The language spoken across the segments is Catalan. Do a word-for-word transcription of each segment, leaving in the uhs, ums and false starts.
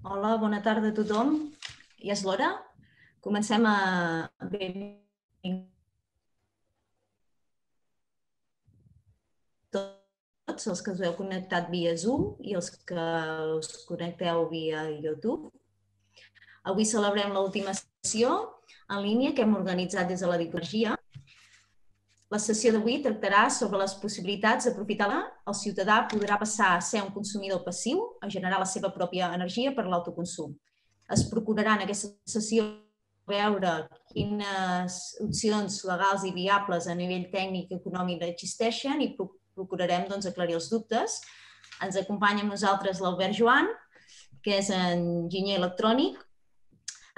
Hola, bona tarda a tothom. Ja és l'hora? Comencem a... Tots els que us heu connectat via Zoom i els que us connecteu via YouTube. Avui celebrem l'última sessió en línia que hem organitzat des de la Dicologia. La sessió d'avui tractarà sobre les possibilitats d'aprofitar-la. El ciutadà podrà passar a ser un consumidor passiu, a generar la seva pròpia energia per l'autoconsum. Es procurarà en aquesta sessió veure quines opcions legals i viables a nivell tècnic i econòmic existeixen i procurarem doncs, aclarir els dubtes. Ens acompanya amb nosaltres l'Albert Joan, que és enginyer electrònic,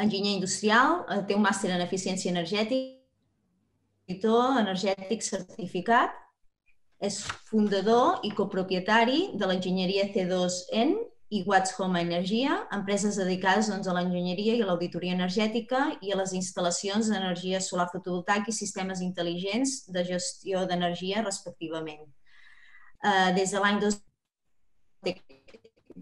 enginyer industrial, té un màster en eficiència energètica, auditor energètic certificat, és fundador i copropietari de l'enginyeria C dos N i Watts Home Energia, empreses dedicades doncs, a l'enginyeria i a l'auditoria energètica i a les instal·lacions d'energia solar fotovoltaica i sistemes intel·ligents de gestió d'energia, respectivament. Des de l'any dos mil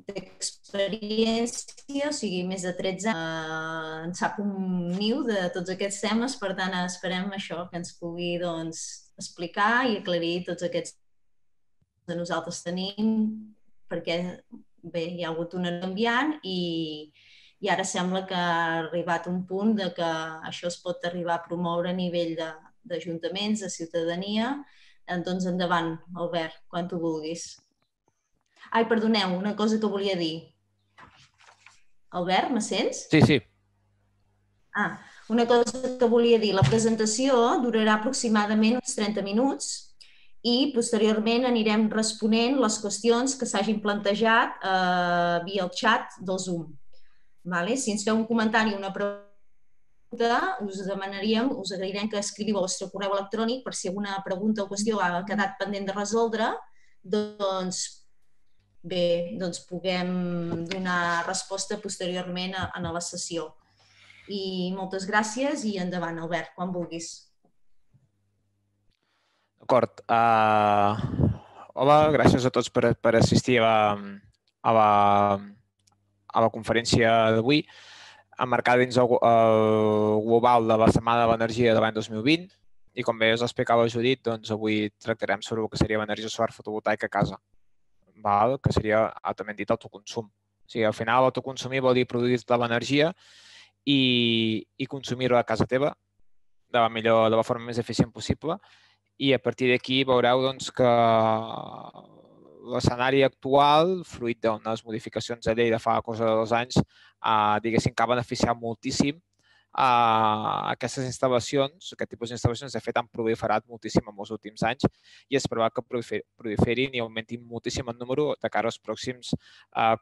d'experiència, o sigui, més de tretze anys, en sap un niu de tots aquests temes, per tant, esperem això, que ens pugui doncs, explicar i aclarir tots aquests que nosaltres tenim, perquè bé, hi ha hagut una canviant i, i ara sembla que ha arribat un punt de que això es pot arribar a promoure a nivell d'ajuntaments, de, de ciutadania. Doncs endavant, Albert, quan tu vulguis. Ai, perdoneu, una cosa que volia dir. Albert, me sents? Sí, sí. Ah, una cosa que volia dir. La presentació durarà aproximadament uns trenta minuts i posteriorment anirem responent les qüestions que s'hagin plantejat eh, via el xat del Zoom. Vale? Si ens feu un comentari o una pregunta, us demanaríem, us agrairem que escriviu el vostre correu electrònic per si alguna pregunta o qüestió ha quedat pendent de resoldre, doncs bé, doncs puguem donar resposta posteriorment a, a la sessió. I moltes gràcies i endavant, Albert, quan vulguis. D'acord. Uh, hola, gràcies a tots per, per assistir a la, a la, a la conferència d'avui, emmarcada dins el, el global de la Setmana de l'Energia de l'any dos mil vint. I com bé us explicava Judit, doncs avui tractarem sobre el que seria l'energia solar fotovoltaica a casa, val? Que seria altament dit autoconsum. O sigui, al final autoconsumir vol dir produir tota l'energia i, i consumir-ho a casa teva de la millor, de la forma més eficient possible. I a partir d'aquí veureu doncs, que l'escenari actual, fruit d'unes modificacions de llei de fa cosa de dos anys, eh, diguéssim que ha beneficiat moltíssim a aquestes instal·lacions. Aquest tipus d'instal·lacions, de fet, han proliferat moltíssim en els últims anys i es preveu que proliferin i augmentin moltíssim el número de cara als pròxims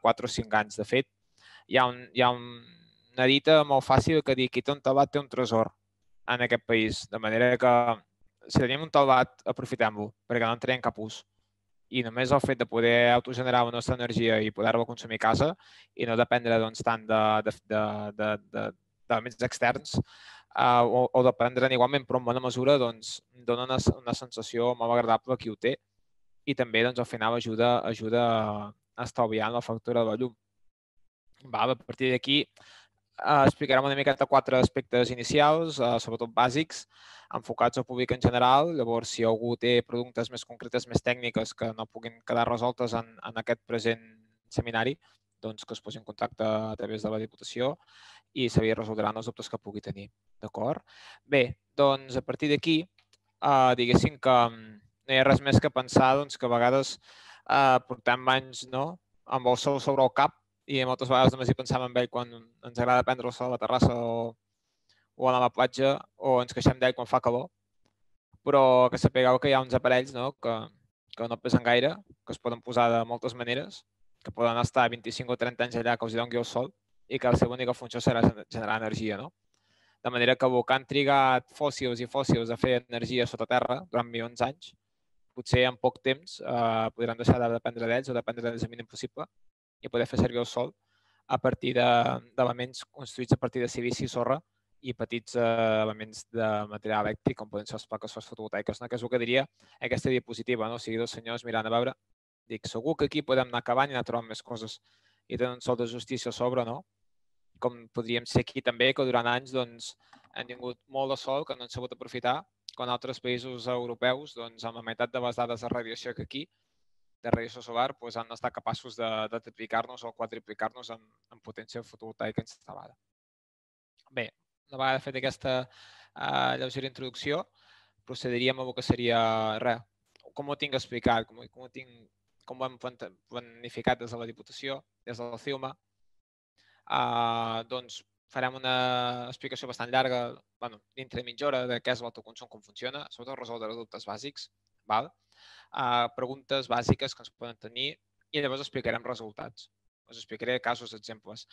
quatre o cinc anys. De fet, hi ha, un, hi ha una dita molt fàcil que diu: qui té un tabat té un tresor en aquest país, de manera que si tenim un tabat, aprofitem-lo, perquè no en traiem cap ús. I només el fet de poder autogenerar la nostra energia i poder-la consumir a casa i no dependre doncs, tant d'elements externs uh, o, o dependre'n igualment, però en bona mesura, doncs, dona una, una sensació molt agradable a qui ho té i també doncs, al final ajuda, ajuda a estalviar la factura de la llum. Va, a partir d'aquí uh, explicarem una miqueta quatre aspectes inicials, uh, sobretot bàsics, enfocats al públic en general. Llavors, si algú té preguntes més concretes, més tècniques que no puguin quedar resoltes en, en aquest present seminari, doncs que es posi en contacte a través de la Diputació i se li resoldran els dubtes que pugui tenir. D'acord? Bé, doncs a partir d'aquí, eh, diguéssim que no hi ha res més que pensar doncs, que a vegades eh, portem anys no, amb el sol sobre el cap i moltes vegades només hi pensàvem en ell quan ens agrada prendre el sol a la terrassa o o anar a la platja, o ens queixem d'ell quan fa calor, però que sapigueu que hi ha uns aparells no, que, que no pesen gaire, que es poden posar de moltes maneres, que poden estar vint-i-cinc o trenta anys allà que els doni el sol i que la seva única funció serà generar energia. No? De manera que el que han trigat fòssils i fòssils a fer energia sota terra durant milions d'anys, potser en poc temps eh, podran deixar de dependre d'ells o dependre d'ells el mínim possible i poder fer servir el sol a partir d'elements construïts a partir de silici i sorra i petits eh, elements de material elèctric, com poden ser les plaques fotovoltaiques, no? Que és el que diria aquesta diapositiva, no? O sigui, dos senyors mirant a veure, dic, segur que aquí podem anar acabant i anar trobant més coses. i tenen un sol de justícia a sobre, no? Com podríem ser aquí també, que durant anys doncs, han tingut molt de sol que no han sabut aprofitar, quan altres països europeus, doncs, amb la meitat de les dades de radiació que aquí, de radiació solar, doncs, han estat capaços de, de triplicar-nos o quadriplicar-nos en, en potència fotovoltaica instal·lada. Bé, una vegada fet aquesta uh, lleugera introducció, procediríem a el que seria res, com ho tinc explicat, com, com, ho, tinc, com ho hem planificat des de la Diputació, des de la CIUMA. Uh, doncs farem una explicació bastant llarga, bueno, dintre de mitja hora, de què és l'autoconsum, com funciona, sobretot resoldre dubtes bàsics, val? Uh, preguntes bàsiques que ens poden tenir i llavors explicarem resultats. Us explicaré casos, exemples.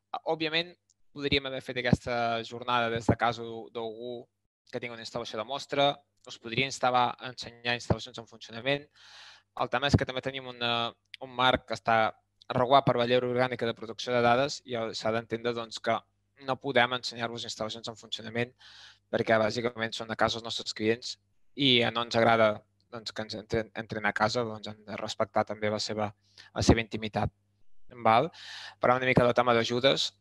Uh, òbviament, podríem haver fet aquesta jornada des de casa d'algú que tingui una instal·lació de mostra, us podria instal·lar a ensenyar instal·lacions en funcionament. El tema és que també tenim una, un marc que està regulat per la llei orgànica de protecció de dades i s'ha d'entendre doncs, que no podem ensenyar-vos instal·lacions en funcionament perquè bàsicament són a casa els nostres clients i no ens agrada doncs, que ens entren, entren a casa, doncs hem de respectar també la seva, la seva intimitat. Val? Parlem una mica del tema d'ajudes,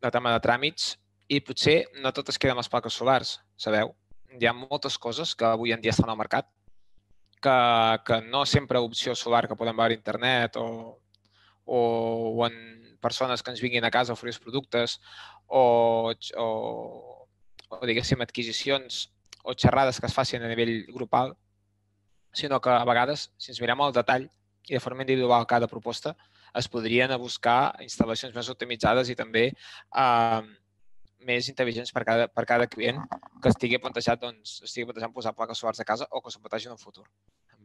del tema de tràmits i potser no totes queden les plaques solars, sabeu? Hi ha moltes coses que avui en dia estan al mercat que, que no sempre opció solar que podem veure a internet o, o, o en persones que ens vinguin a casa a oferir els productes o, o, o diguéssim adquisicions o xerrades que es facin a nivell grupal, sinó que a vegades, si ens mirem al detall i de forma individual cada proposta, es podrien buscar instal·lacions més optimitzades i també eh, més intel·ligents per cada, per cada client que estigui plantejat, doncs, estigui plantejant posar plaques solars a casa o que s'ho plantegi en un futur.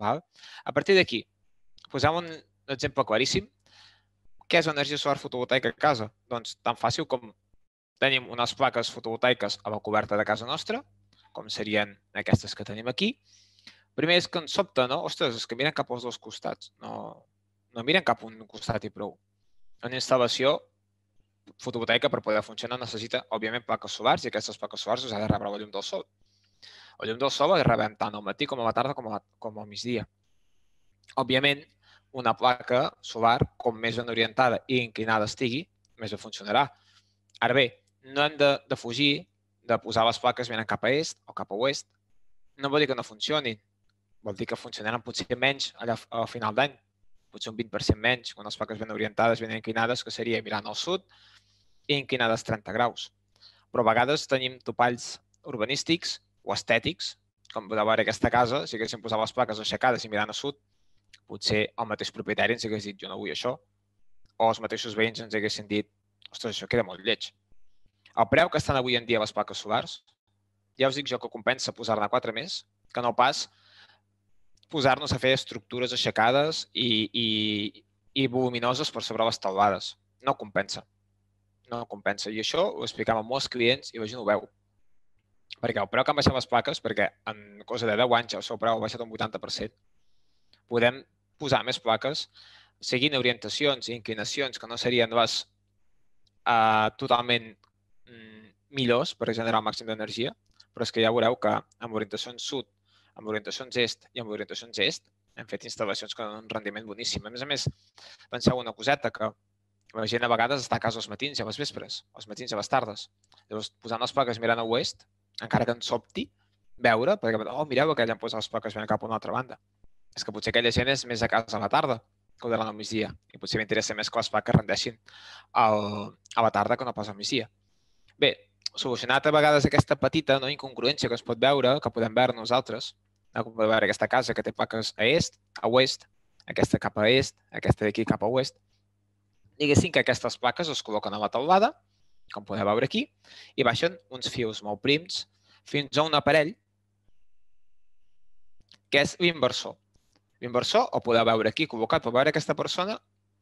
Val? A partir d'aquí, posem un exemple claríssim. Què és energia solar fotovoltaica a casa? Doncs tan fàcil com tenim unes plaques fotovoltaiques a la coberta de casa nostra, com serien aquestes que tenim aquí. Primer és que ens sobta, no? Ostres, és que miren cap als dos costats. No, no miren cap a un costat i prou. Una instal·lació fotovoltaica per poder funcionar necessita, òbviament, plaques solars i aquestes plaques solars us ha de rebre la llum del sol. La llum del sol la rebem tant al matí com a la tarda com, a, com al migdia. Òbviament, una placa solar, com més ben orientada i inclinada estigui, més bé funcionarà. Ara bé, no hem de, de fugir de posar les plaques venint cap a est o cap a oest. No vol dir que no funcionin. Vol dir que funcionaran potser menys allà al final d'any. Potser un vint per cent menys, quan les plaques ben orientades, ben inclinades, que seria mirant al sud i inclinades trenta graus. Però a vegades tenim topalls urbanístics o estètics, com podeu veure aquesta casa, si haguéssim posat les plaques aixecades i mirant a sud, potser el mateix propietari ens hagués dit jo no vull això, o els mateixos veïns ens haguessin dit ostres, això queda molt lleig. El preu que estan avui en dia les plaques solars, ja us dic jo que compensa posar-ne quatre més, que no pas posar-nos a fer estructures aixecades i, i, i voluminoses per sobre les teulades. No compensa. No compensa. I això ho explicam a molts clients i la gent ho veu. Perquè el preu que han baixat les plaques, perquè en cosa de deu anys el seu preu ha baixat un vuitanta per cent, podem posar més plaques seguint orientacions i inclinacions que no serien les uh, totalment mm, millors per generar el màxim d'energia, però és que ja veureu que amb orientacions sud, amb orientacions est i amb orientacions est hem fet instal·lacions que donen un rendiment boníssim. A més a més, penseu una coseta, que la gent a vegades està a casa als matins i a les vespres, als matins i a les tardes. Llavors, posant les plaques mirant a oest, encara que ens sobti, veure, perquè, oh, mireu, aquella han posat les plaques mirant cap a una altra banda. És que potser aquella gent és més a casa a la tarda que durant el migdia i potser m'interessa més que les plaques rendeixin al, a la tarda que no pas al migdia. Bé, solucionat a vegades aquesta petita no, incongruència que es pot veure, que podem veure nosaltres, no? Com podem veure aquesta casa que té plaques a est, a oest, aquesta cap a est, aquesta d'aquí cap a oest. Diguéssim que aquestes plaques es col·loquen a la teulada, com podeu veure aquí, i baixen uns fius molt prims fins a un aparell que és l'inversor. L'inversor, el podeu veure aquí col·locat, per veure aquesta persona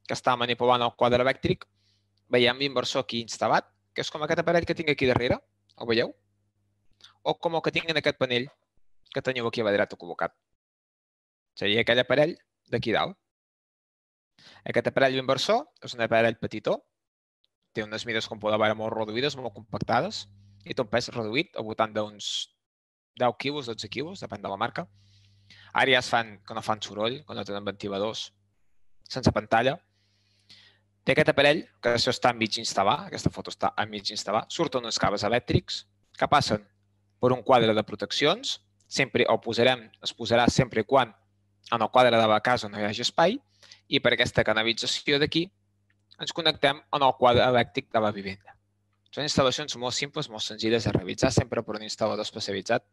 que està manipulant el quadre elèctric, veiem l'inversor aquí instal·lat, que és com aquest aparell que tinc aquí darrere, el veieu? O com el que tinc en aquest panell que teniu aquí a la dreta col·locat. Seria aquell aparell d'aquí dalt. Aquest aparell inversor és un aparell petitó, té unes mides, com podeu veure, molt reduïdes, molt compactades, i té un pes reduït, al voltant d'uns deu quilos, dotze quilos, depèn de la marca. Ara ja es fan que no fan soroll, que no tenen ventiladors, sense pantalla. Té aquest aparell, que això està enmig instal·lar, aquesta foto està enmig instal·lar, surten uns cables elèctrics que passen per un quadre de proteccions, sempre el posarem, es posarà sempre i quan en el quadre de la casa no hi hagi espai, i per aquesta canalització d'aquí ens connectem en el quadre elèctric de la vivenda. Són instal·lacions molt simples, molt senzilles de realitzar, sempre per un instal·lador especialitzat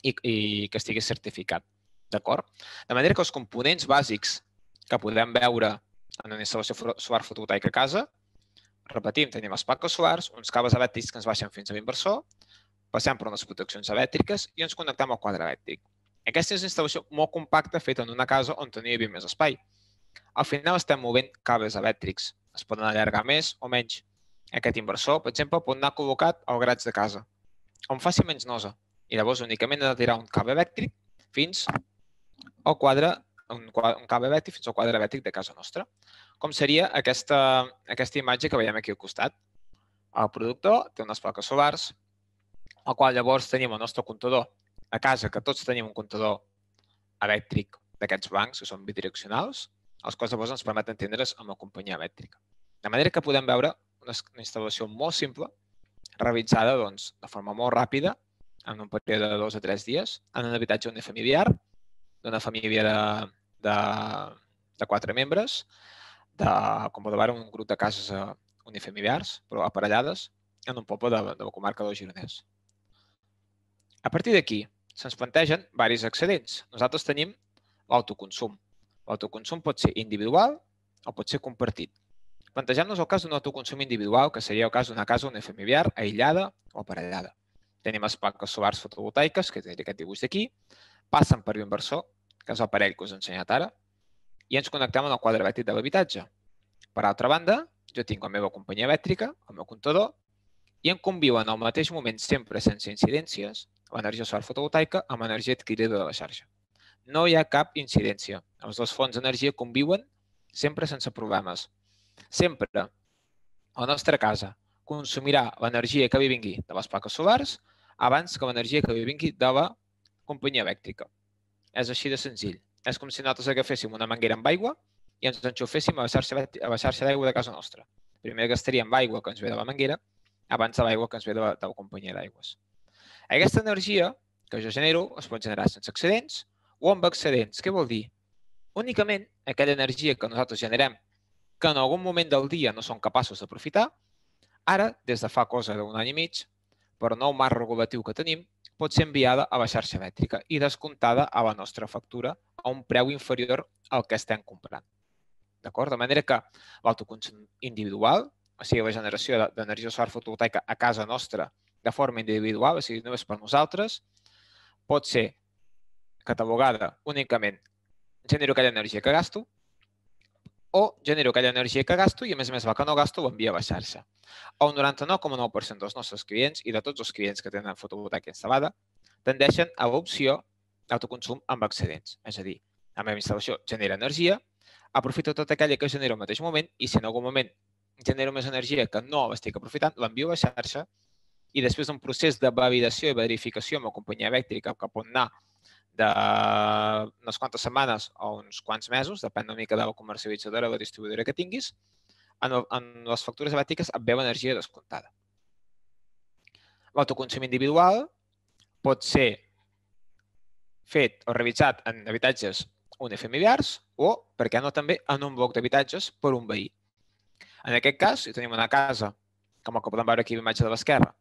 i, i que estigui certificat. D'acord? De manera que els components bàsics que podem veure en una instal·lació solar fotovoltaica a casa, repetim, tenim les plaques solars, uns cables elèctrics que ens baixen fins a l'inversor, passem per unes proteccions elèctriques i ens connectem al quadre elèctric. Aquesta és una instal·lació molt compacta feta en una casa on tenia més espai. Al final estem movent cables elèctrics. Es poden allargar més o menys. Aquest inversor, per exemple, pot anar col·locat al graig de casa, on faci menys nosa. I llavors únicament ha de tirar un cable elèctric fins al quadre, un cable elèctric fins al quadre elèctric de casa nostra. Com seria aquesta, aquesta imatge que veiem aquí al costat. El productor té unes plaques solars, al qual llavors tenim el nostre comptador a casa, que tots tenim un comptador elèctric d'aquests bancs, que són bidireccionals, els quals llavors ens permeten entendre's amb la companyia elèctrica. De manera que podem veure una instal·lació molt simple, realitzada doncs, de forma molt ràpida, en un període de dos a tres dies, en un habitatge unifamiliar, d'una família de, de, de quatre membres, de, com podeu veure, un grup de cases unifamiliars, però aparellades, en un poble de, de la comarca del Gironès. A partir d'aquí, se'ns plantegen diversos excedents. Nosaltres tenim l'autoconsum. L'autoconsum pot ser individual o pot ser compartit. Plantegem-nos el cas d'un autoconsum individual, que seria el cas d'una casa unifamiliar, aïllada o aparellada. Tenim les plaques solars fotovoltaiques, que és aquest dibuix d'aquí, passen per l'inversor, que és l'aparell que us he ensenyat ara, i ens connectem al quadre elèctric de l'habitatge. Per altra banda, jo tinc la meva companyia elèctrica, el meu comptador, i em conviuen al mateix moment, sempre sense incidències, l'energia solar fotovoltaica amb l'energia adquirida de la xarxa. No hi ha cap incidència. Els dos fonts d'energia conviuen sempre sense problemes. Sempre la nostra casa consumirà l'energia que li vingui de les plaques solars abans que l'energia que li vingui de la companyia elèctrica. És així de senzill. És com si nosaltres agaféssim una manguera amb aigua i ens enxuféssim a la xarxa d'aigua de casa nostra. Primer gastaríem l'aigua que ens ve de la manguera abans de l'aigua que ens ve de la, de la companyia d'aigües. Aquesta energia que jo genero es pot generar sense excedents o amb excedents. Què vol dir? Únicament aquella energia que nosaltres generem que en algun moment del dia no som capaços d'aprofitar, ara, des de fa cosa d'un any i mig, per nou marc regulatiu que tenim, pot ser enviada a la xarxa elèctrica i descomptada a la nostra factura a un preu inferior al que estem comprant. D'acord? De manera que l'autoconsum individual, o sigui, la generació d'energia solar fotovoltaica a casa nostra de forma individual, o sigui, només per nosaltres, pot ser catalogada únicament genero aquella energia que gasto o genero aquella energia que gasto i, a més a més, la que no gasto l'envia a la xarxa. El noranta-nou coma nou per cent dels nostres clients i de tots els clients que tenen fotovoltaica instal·lada tendeixen a l'opció d'autoconsum amb excedents. És a dir, la meva instal·lació genera energia, aprofito tota aquella que genero al mateix moment i si en algun moment genero més energia que no l'estic aprofitant, l'envio a la xarxa i després d'un procés de validació i verificació amb la companyia elèctrica que pot anar d'unes quantes setmanes o uns quants mesos, depèn una mica de la comercialitzadora o la distribuïdora que tinguis, en les factures elèctriques et ve l'energia descomptada. L'autoconsum individual pot ser fet o realitzat en habitatges unifamiliars o, per què no també, en un bloc d'habitatges per un veí. En aquest cas, si tenim una casa, com el que podem veure aquí a l'imatge de l'esquerra,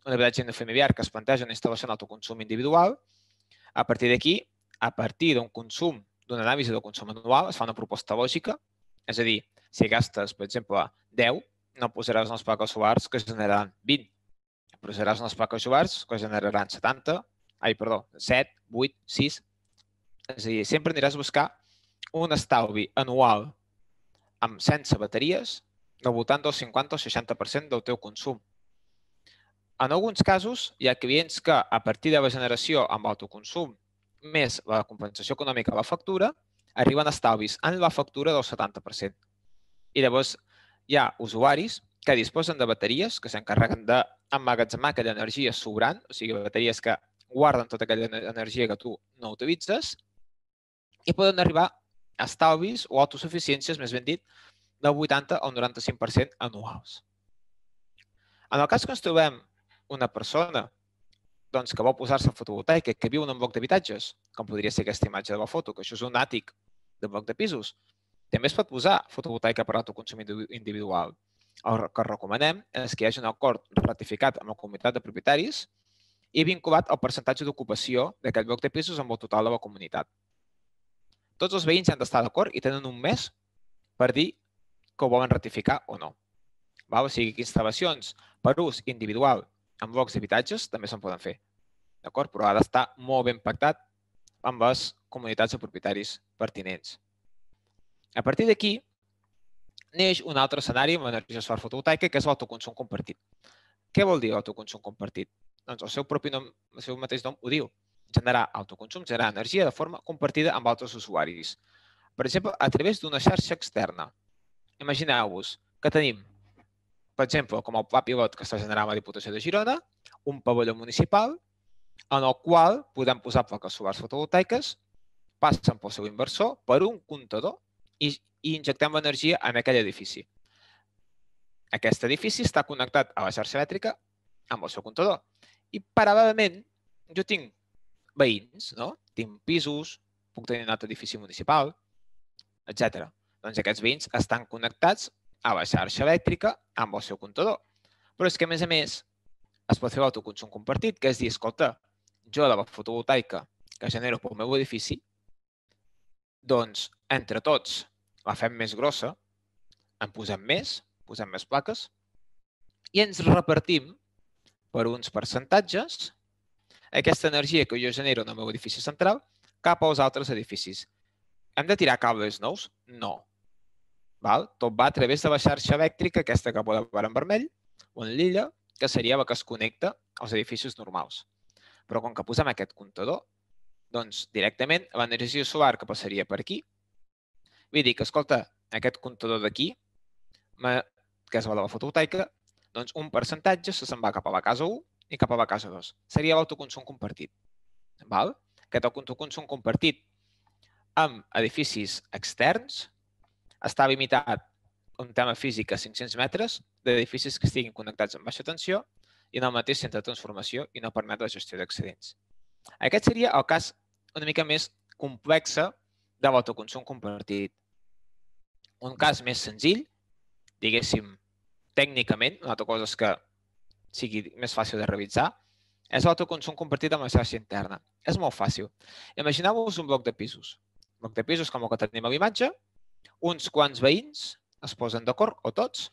un habitatge unifamiliar que es planteja una instal·lació d'autoconsum individual, a partir d'aquí, a partir d'un consum, d'una anàlisi del consum anual, es fa una proposta lògica, és a dir, si gastes, per exemple, deu, no posaràs unes plaques solars que generaran vint, posaràs unes plaques solars que generaran setanta, ai, perdó, set, vuit, sis, és a dir, sempre aniràs a buscar un estalvi anual amb sense bateries del voltant del cinquanta o seixanta per cent del teu consum. En alguns casos, hi ha clients que, a partir de la generació amb autoconsum més la compensació econòmica a la factura, arriben a estalvis en la factura del setanta per cent. I llavors hi ha usuaris que disposen de bateries que s'encarreguen d'emmagatzemar aquella energia sobrant, o sigui, bateries que guarden tota aquella energia que tu no utilitzes i poden arribar a estalvis o autosuficiències, més ben dit, del vuitanta al noranta-cinc per cent anuals. En el cas que ens trobem una persona doncs, que vol posar-se fotovoltaica, que viu en un bloc d'habitatges, com podria ser aquesta imatge de la foto, que això és un àtic de bloc de pisos, també es pot posar fotovoltaica per autoconsum individual. El que recomanem és que hi hagi un acord ratificat amb la comunitat de propietaris i vinculat al percentatge d'ocupació d'aquest bloc de pisos amb el total de la comunitat. Tots els veïns han d'estar d'acord i tenen un mes per dir que ho volen ratificar o no. O sigui que instal·lacions per ús individual en blocs d'habitatges també se'n poden fer, d'acord? Però ha d'estar molt ben pactat amb les comunitats de propietaris pertinents. A partir d'aquí, neix un altre escenari amb l'energia solar fotovoltaica, que és l'autoconsum compartit. Què vol dir l'autoconsum compartit? Doncs el seu propi nom, el seu mateix nom ho diu. Generar autoconsum, generar energia de forma compartida amb altres usuaris. Per exemple, a través d'una xarxa externa. Imagineu-vos que tenim, per exemple, com el pla pilot que està generant la Diputació de Girona, un pavelló municipal en el qual podem posar plaques solars fotovoltaiques, passen pel seu inversor per un comptador i, i injectem l'energia en aquell edifici. Aquest edifici està connectat a la xarxa elèctrica amb el seu comptador. I paral·lelament jo tinc veïns, no? Tinc pisos, puc tenir un altre edifici municipal, etcètera. Doncs aquests veïns estan connectats a la xarxa elèctrica amb el seu comptador. Però és que, a més a més, es pot fer l'autoconsum compartit, que és dir, escolta, jo de la fotovoltaica que genero pel meu edifici, doncs, entre tots, la fem més grossa, en posem més, posem més plaques, i ens repartim per uns percentatges aquesta energia que jo genero en el meu edifici central cap als altres edificis. Hem de tirar cables nous? No. Tot va a través de la xarxa elèctrica, aquesta que podeu veure en vermell, o en lila, que seria la que es connecta als edificis normals. Però com que posem aquest comptador, doncs directament l'energia solar que passaria per aquí, vull dir que, escolta, aquest comptador d'aquí, que és la de la fotovoltaica, doncs un percentatge se se'n va cap a la casa u i cap a la casa dos. Seria l'autoconsum compartit. Aquest autoconsum compartit amb edificis externs està limitat un tema físic a cinc-cents metres d'edificis que estiguin connectats amb baixa tensió i en el mateix centre de transformació i no permet la gestió d'excedents. Aquest seria el cas una mica més complex de l'autoconsum compartit. Un cas més senzill, diguéssim, tècnicament, una altra cosa és que sigui més fàcil de realitzar, és l'autoconsum compartit amb la xarxa interna. És molt fàcil. Imagineu-vos un bloc de pisos. Un bloc de pisos com el que tenim a l'imatge, uns quants veïns es posen d'acord, o tots,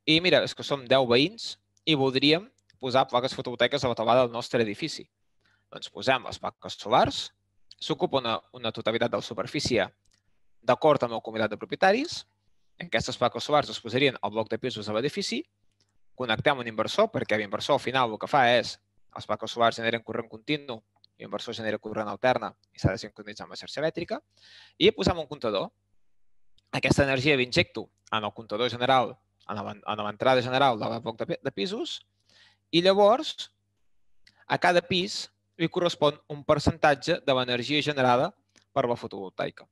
i mira, és que som deu veïns i voldríem posar plaques fotovoltaiques a la teulada del nostre edifici. Doncs posem les plaques solars, s'ocupa una, una totalitat de la superfície d'acord amb la comunitat de propietaris, aquestes plaques solars es posarien al bloc de pisos de l'edifici, connectem un inversor, perquè l'inversor al final el que fa és les plaques solars generen corrent continu, l'inversor genera corrent alterna i s'ha de sincronitzar amb la xarxa elèctrica, i posem un comptador. Aquesta energia l'injecto en el comptador general, en l'entrada general del bloc de pisos, i llavors a cada pis li correspon un percentatge de l'energia generada per la fotovoltaica.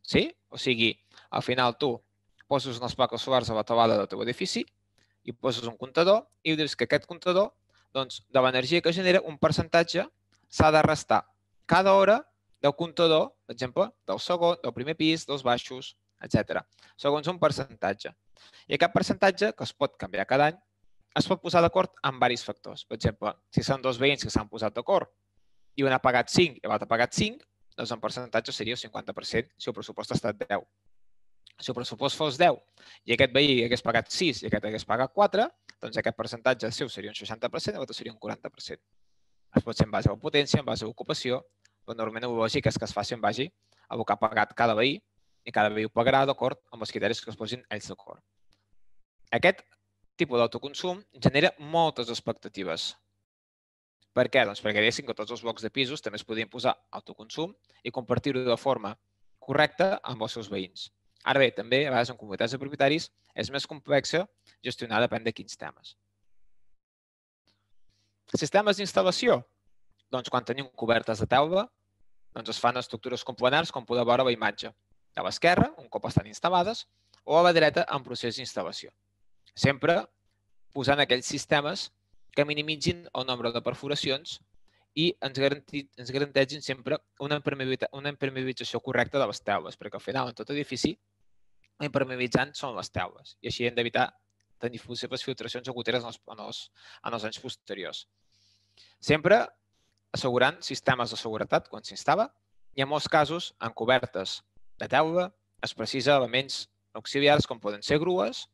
Sí? O sigui, al final tu poses unes plaques solars a la teulada del teu edifici i poses un comptador i dius que aquest comptador, doncs, de l'energia que genera, un percentatge s'ha de restar cada hora del comptador, per exemple, del segon, del primer pis, dels baixos, etcètera, segons un percentatge. I aquest percentatge, que es pot canviar cada any, es pot posar d'acord amb diversos factors. Per exemple, si són dos veïns que s'han posat d'acord i un ha pagat cinc i l'altre ha pagat cinc, doncs el percentatge seria el cinquanta per cent si el pressupost ha estat deu. Si el pressupost fos deu i aquest veí hagués pagat sis i aquest hagués pagat quatre, doncs aquest percentatge seu seria un seixanta per cent i l'altre seria un quaranta per cent. Es pot ser en base a la potència, en base a l'ocupació, però normalment el lògic és que es faci en base a el que ha pagat cada veí i cada veí ho pagarà d'acord amb els criteris que es posin ells d'acord. Aquest tipus d'autoconsum genera moltes expectatives. Per què? Doncs perquè diguéssim que tots els blocs de pisos també es podien posar autoconsum i compartir-ho de forma correcta amb els seus veïns. Ara bé, també, a vegades en comunitats de propietaris, és més complexa gestionar depèn de quins temes. Sistemes d'instal·lació. Doncs quan tenim cobertes de teula, doncs es fan estructures complenars com podeu veure a la imatge. A l'esquerra, un cop estan instal·lades, o a la dreta en procés d'instal·lació. Sempre posant aquells sistemes que minimitzin el nombre de perforacions i ens, garanti, ens garanteixin sempre una impermeabilització correcta de les teules, perquè al final, en tot edifici, l'impermeabilitzant són les teules i així hem d'evitar tenir possibles filtracions o goteres en els, en, els, en els anys posteriors. Sempre assegurant sistemes de seguretat quan s'instal·la i en molts casos, en cobertes de teula, es precisa elements auxiliars com poden ser grues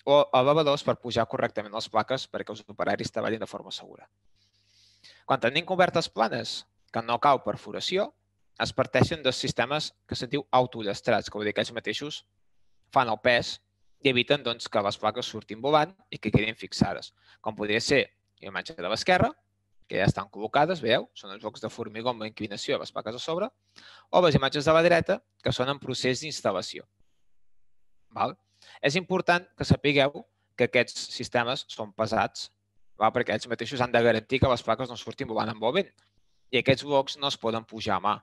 o elevadors per pujar correctament les plaques perquè els operaris treballin de forma segura. Quan tenim cobertes planes que no cau perforació, es parteixen dos sistemes que se'n diu autollastrats, que vol dir que ells mateixos fan el pes i eviten doncs, que les plaques surtin volant i que quedin fixades. Com podria ser la imatge de l'esquerra, que ja estan col·locades, veieu? Són els blocs de formigó amb la inclinació de les plaques a sobre, o les imatges de la dreta, que són en procés d'instal·lació. És important que sapigueu que aquests sistemes són pesats, perquè ells mateixos han de garantir que les plaques no surtin volant amb el vent. I aquests blocs no es poden pujar a mà.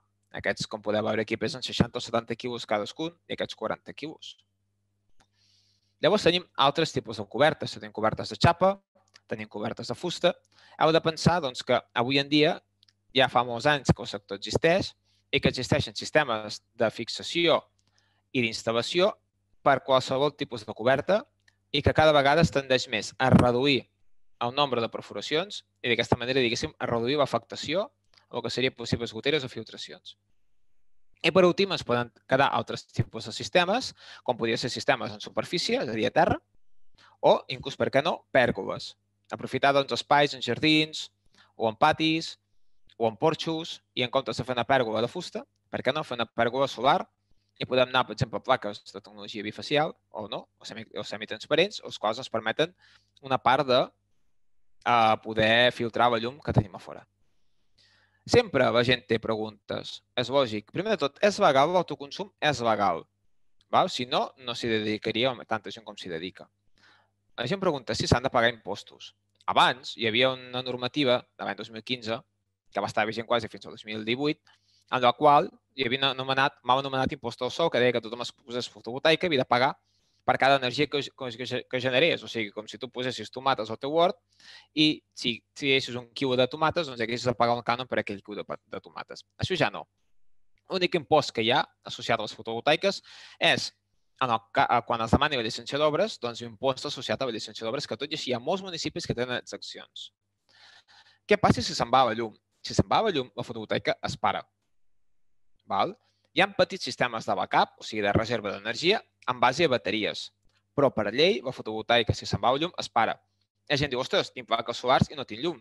Aquests, com podeu veure aquí, pesen seixanta o setanta quilos cadascun i aquests quaranta quilos. Llavors tenim altres tipus de cobertes. Tenim cobertes de xapa, tenim cobertes de fusta. Heu de pensar que avui en dia ja fa molts anys que el sector existeix i que existeixen sistemes de fixació i d'instal·lació per qualsevol tipus de coberta i que cada vegada es tendeix més a reduir el nombre de perforacions i d'aquesta manera, diguéssim, a reduir l'afectació o el que serien possibles goteres o filtracions. I per últim es poden quedar altres tipus de sistemes, com podrien ser sistemes en superfície, és a dir, a terra, o inclús, per què no, pèrgoles. Aprofitar doncs, espais en jardins o en patis o en porxos i en comptes de fer una pèrgola de fusta, per què no, fer una pèrgola solar i podem anar, per exemple, a plaques de tecnologia bifacial o no, o semitransparents, els quals ens permeten una part de poder filtrar la llum que tenim a fora. Sempre la gent té preguntes. És lògic. Primer de tot, és legal l'autoconsum? És legal. Si no, no s'hi dedicaria tanta gent com s'hi dedica. La gent pregunta si s'han de pagar impostos. Abans hi havia una normativa de l'any dos mil quinze, que va estar vigent quasi fins al dos mil divuit, en la qual hi havia anomenat, mal anomenat impost al sol, que deia que tothom es posés fotovoltaica havia de pagar per cada energia que generés. O sigui, com si tu posessis tomates al teu hort i si triessis un quilo de tomates, doncs haguessis de pagar un cànon per aquell quilo de tomates. Això ja no. L'únic impost que hi ha associat a les fotovoltaiques és, quan es demani la llicència d'obres, doncs l'impost associat a la llicència d'obres, que tot i així hi ha molts municipis que tenen exempcions. Què passa si se'n va la llum? Si se'n va la llum, la fotovoltaica es para. Hi ha petits sistemes de backup, o sigui, de reserva d'energia, en base a bateries. Però per llei, la fotovoltaica, si se'n va la llum, es para. La gent diu, ostres, tinc plaques solars i no tinc llum.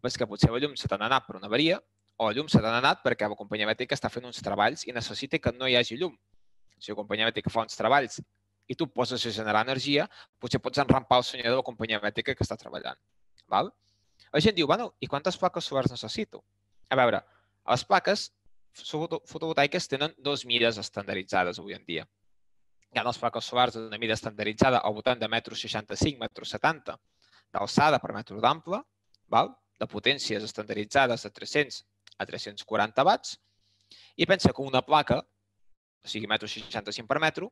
És que potser la llum se t'ha anat per una avaria o la llum se t'ha anat perquè la companyia elèctrica està fent uns treballs i necessita que no hi hagi llum. Si la companyia elèctrica fa uns treballs i tu poses a generar energia, potser pots enrampar el senyor de la companyia elèctrica que està treballant. La gent diu, bueno, i quantes plaques solars necessito? A veure, les plaques fotovoltaiques tenen dues mides estandarditzades avui en dia. Hi ha les plaques solars d'una mida estandarditzada al voltant de metro seixanta-cinc, metro setanta d'alçada per metre d'ample, de potències estandarditzades de tres-cents a tres-cents quaranta watts, i pensa que una placa, o sigui, metro seixanta-cinc per metro,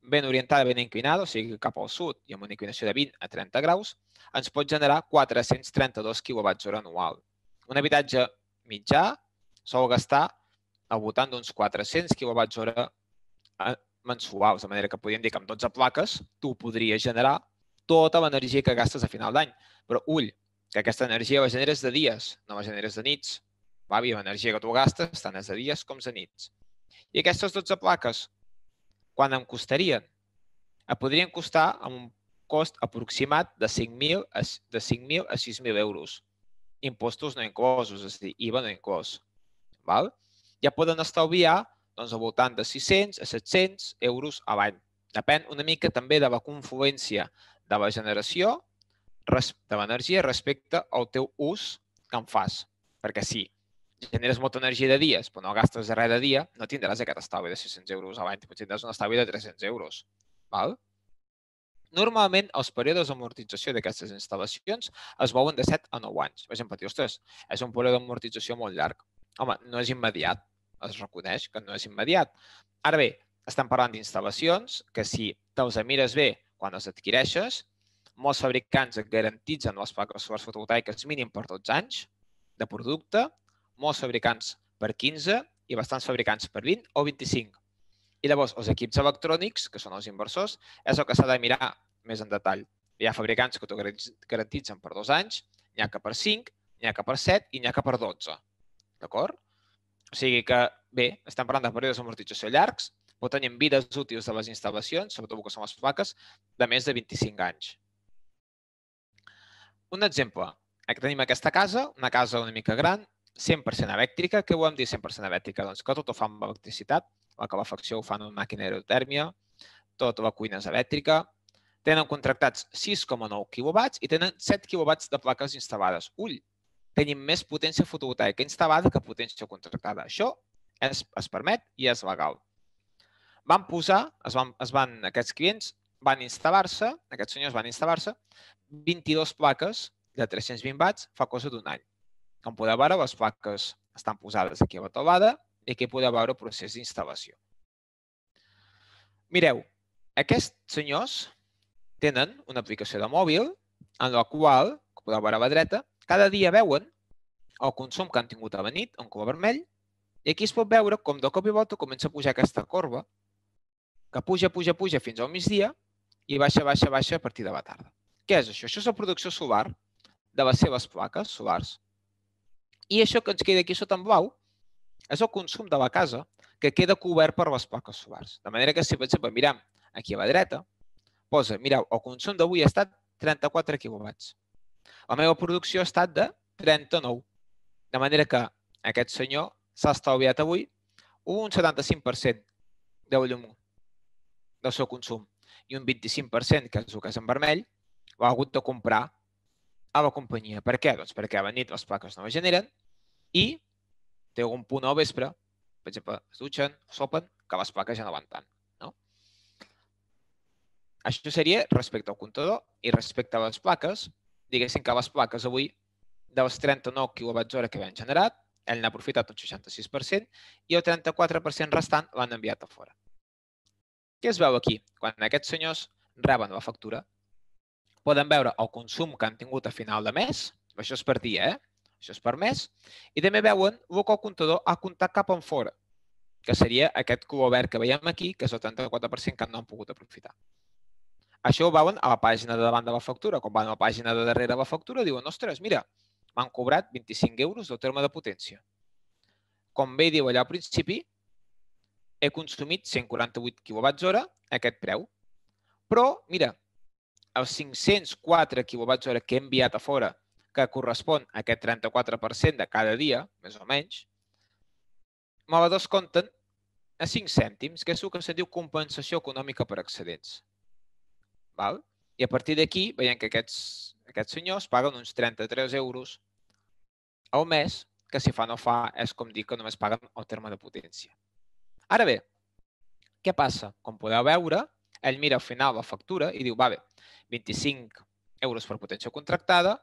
ben orientada, ben inclinada, o sigui, cap al sud i amb una inclinació de vint a trenta graus, ens pot generar quatre-cents trenta-dos quilowatts hora anual. Un habitatge mitjà sol gastar al voltant d'uns quatre-cents quilowatts hora mensuals, de manera que podríem dir que amb dotze plaques tu podries generar tota l'energia que gastes a final d'any. Però ull, que aquesta energia la generes de dies, no la generes de nits. L'energia que tu gastes tant és de dies com de nits. I aquestes dotze plaques, quan em costarien? Em podrien costar amb un cost aproximat de cinc mil a sis mil euros. Impostos no inclosos, és a dir, I V A no inclòs. Ja poden estalviar al voltant de sis-cents a set-cents euros a l'any. Depèn una mica també de la confluència de la generació de l'energia respecte al teu ús que en fas. Perquè si generes molta energia de dies però no gastes res de dia, no tindràs aquest estalvi de sis-cents euros a l'any, potser tindràs un estalvi de tres-cents euros. Normalment, els períodes d'amortització d'aquestes instal·lacions es mouen de set a nou anys. Per exemple, ostres, és un període d'amortització molt llarg. Home, no és immediat. Es reconeix que no és immediat. Ara bé, estem parlant d'instal·lacions que si te'ls mires bé quan les adquireixes, molts fabricants et garantitzen les plaques solars fotovoltaiques mínim per dotze anys de producte, molts fabricants per quinze i bastants fabricants per vint o vint-i-cinc. I llavors, els equips electrònics, que són els inversors, és el que s'ha de mirar més en detall. Hi ha fabricants que t'ho garantitzen per dos anys, n'hi ha que per cinc, n'hi ha que per set i n'hi ha que per dotze. D'acord? O sigui que, bé, estem parlant de períodes d'amortització llargs, però tenim vides útils de les instal·lacions, sobretot que són les plaques, de més de vint-i-cinc anys. Un exemple. Aquí tenim aquesta casa, una casa una mica gran, cent per cent elèctrica. Què volem dir cent per cent elèctrica? Doncs que tot ho fa amb electricitat, la calefacció ho fan amb màquina d'aerotèrmia, tota la cuina és elèctrica. Tenen contractats sis coma nou quilowatts i tenen set quilowatts de plaques instal·lades. Ull, tenim més potència fotovoltaica instal·lada que potència contractada. Això es, es permet i és legal. Van posar, es van, es van, aquests clients van instal·lar-se, aquests senyors van instal·lar-se, vint-i-dues plaques de tres-cents vint watts fa cosa d'un any. Com podeu veure, les plaques estan posades aquí a la taulada i aquí podeu veure el procés d'instal·lació. Mireu, aquests senyors tenen una aplicació de mòbil en la qual, com podeu veure a la dreta, cada dia veuen el consum que han tingut a la nit, en color vermell, i aquí es pot veure com de cop i volta comença a pujar aquesta corba, que puja, puja, puja fins al migdia i baixa, baixa, baixa a partir de la tarda. Què és això? Això és la producció solar de les seves plaques solars. I això que ens queda aquí sota en blau és el consum de la casa que queda cobert per les plaques solars. De manera que si, per exemple, mirem aquí a la dreta, posa, mireu, el consum d'avui ha estat trenta-quatre quilowatts. La meva producció ha estat de trenta-nou. De manera que aquest senyor s'ha estalviat avui un setanta-cinc per cent de llum del seu consum i un vint-i-cinc per cent, que és el que és en vermell, l'ha hagut de comprar a la companyia. Per què? Doncs perquè a la nit les plaques no les generen i té algun punt al vespre, per exemple, es dutxen, sopen, que les plaques ja no van tant. No? Això seria respecte al comptador i respecte a les plaques, diguéssim que les plaques avui, dels trenta-nou quilowatts hora que havien generat, ell n'ha aprofitat un seixanta-sis per cent i el trenta-quatre per cent restant l'han enviat a fora. Què es veu aquí? Quan aquests senyors reben la factura, poden veure el consum que han tingut a final de mes, això és per dia, eh? Això és per mes, i també veuen el que el comptador ha comptat cap en fora, que seria aquest color verd que veiem aquí, que és el trenta-quatre per cent que no han pogut aprofitar. Això ho veuen a la pàgina de davant de la factura. Quan van a la pàgina de darrere de la factura, diuen, ostres, mira, m'han cobrat vint-i-cinc euros del terme de potència. Com bé diu allà al principi, he consumit cent quaranta-vuit quilowatts hora a aquest preu. Però, mira, els cinc-cents quatre quilowatts hora que he enviat a fora, que correspon a aquest trenta-quatre per cent de cada dia, més o menys, me la descompten a cinc cèntims, que és el que se diu compensació econòmica per excedents. Val? I a partir d'aquí veiem que aquests, aquests senyors paguen uns trenta-tres euros al mes, que si fa no fa és com dir que només paguen el terme de potència. Ara bé, què passa? Com podeu veure, ell mira al final la factura i diu, va bé, vint-i-cinc euros per potència contractada,